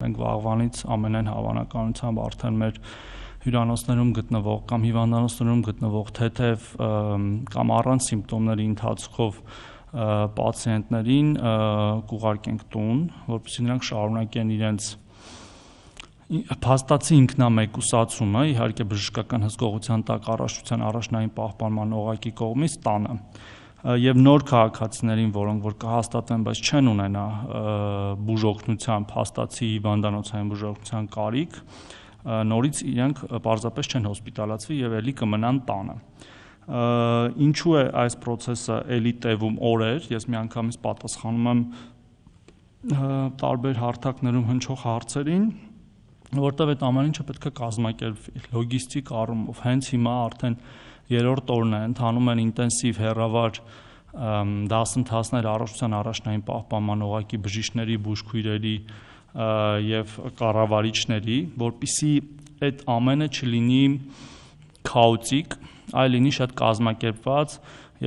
Մենք վաղվանից ամենայն հավանականությամբ արդեն մեր հյուրանոցներում գտնվող կամ հիվանդանոցներում գտնվող թեթև կամ առանց սիմպտոմների ընթացքով պացիենտներին կուղարկենք տուն, որպեսզի նրանք շարունակեն իրենց փաստացի ինքնամեկուսացումը, իհարկե բժշկական հսկողության տակ առողջության առաջնային պահպանման օղակի կողմից տանը։ Եվ նոր քաղաքացիներին, որոնք որ կհաստատվեն, բայց չեն ունենա բուժօգնության, փաստացի հիվանդանոցային բուժօգնության կարիք, նորից իրենք պարզապես չեն հոսպիտալացվի եւ ելի կմնան տանը։ Ինչու է այս process-ը ելի տևում օրեր, ես միանգամից պատասխանում եմ տարբեր հարթակներում հնչող հարցերին, որտեղ այդ ամեն ինչը պետք է կազմակերպվի լոգիստիկ առումով։ Հենց հիմա արդեն երրորդ օրն է, ընթանում են ինտենսիվ հեռավար դասընթացներ առողջության առաջնային պահպանման օղակի բժիշկների, բուժքույրերի եւ կառավարիչների, որպեսզի այդ ամենը չլինի քաոտիկ, այլ լինի շատ կազմակերպված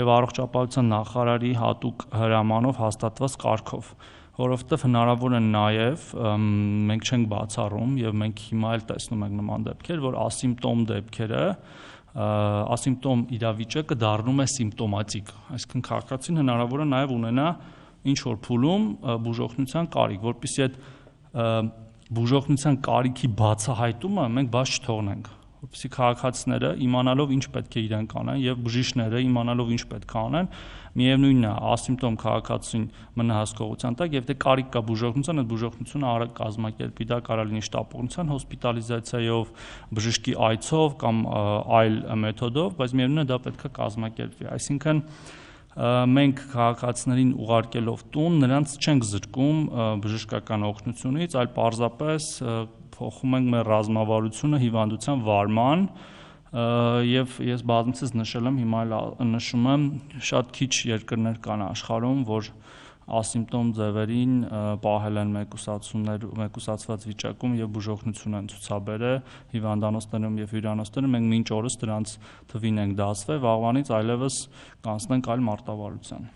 եւ առողջապահության նախարարի հատուկ հրամանով հաստատված կարգով, որովհետեւ հնարավոր է նաեւ մենք չենք բացառում եւ մենք հիմա էլ տեսնում ենք նման դեպքեր, որ ասիմպտոմ դեպքերը ասիմպտոմ իրավիճակը դառնում է սիմպտոմատիկ, այսինքն քաղաքացին հնարավոր է նաև ունենա ինչ որ փուլում բուժօգնության կարիք, որպեսզի այդ բուժօգնության կարիքի բացահայտումը մենք բաց չթողնենք, որպեսզի քաղաքացիները իմանալով ինչ պետք է իրենք անեն եւ բժիշկները իմանալով ինչ պետք է անեն, միևնույնն է ասիմպտոմ քաղաքացին մնա հսկողության տակ եւ դե կարիք կա բուժօգնության, այդ բուժօգնությունը արագ կազմակերպի, դա կարող լինի շտապօգնության հոսպիտալիզացիայով, բժշկի այցով կամ այլ մեթոդով, բայց միևնույնն է դա պետք է կազմակերպվի, այսինքն մենք քաղաքացիներին ուղարկելով տուն նրանց չենք զրկում բժշկական օգնությունից, այլ պարզապես փոխում ենք մեր ռազմավարությունը հիվանդության վարման եւ ես բազմիցս նշել եմ, հիմա էլ նշում եմ, շատ քիչ երկրներ կան աշխարհում, որ ասիմպտոմ ձևերին պահել են մեկուսացված վիճակում եւ բուժօգնություն են ցուցաբերել հիվանդանոցներում եւ հյուրանոցներում, մենք մինչ օրս դրանց թվին ենք դասվել, վաղվանից այլևս կանցնենք այլ մարտավարության։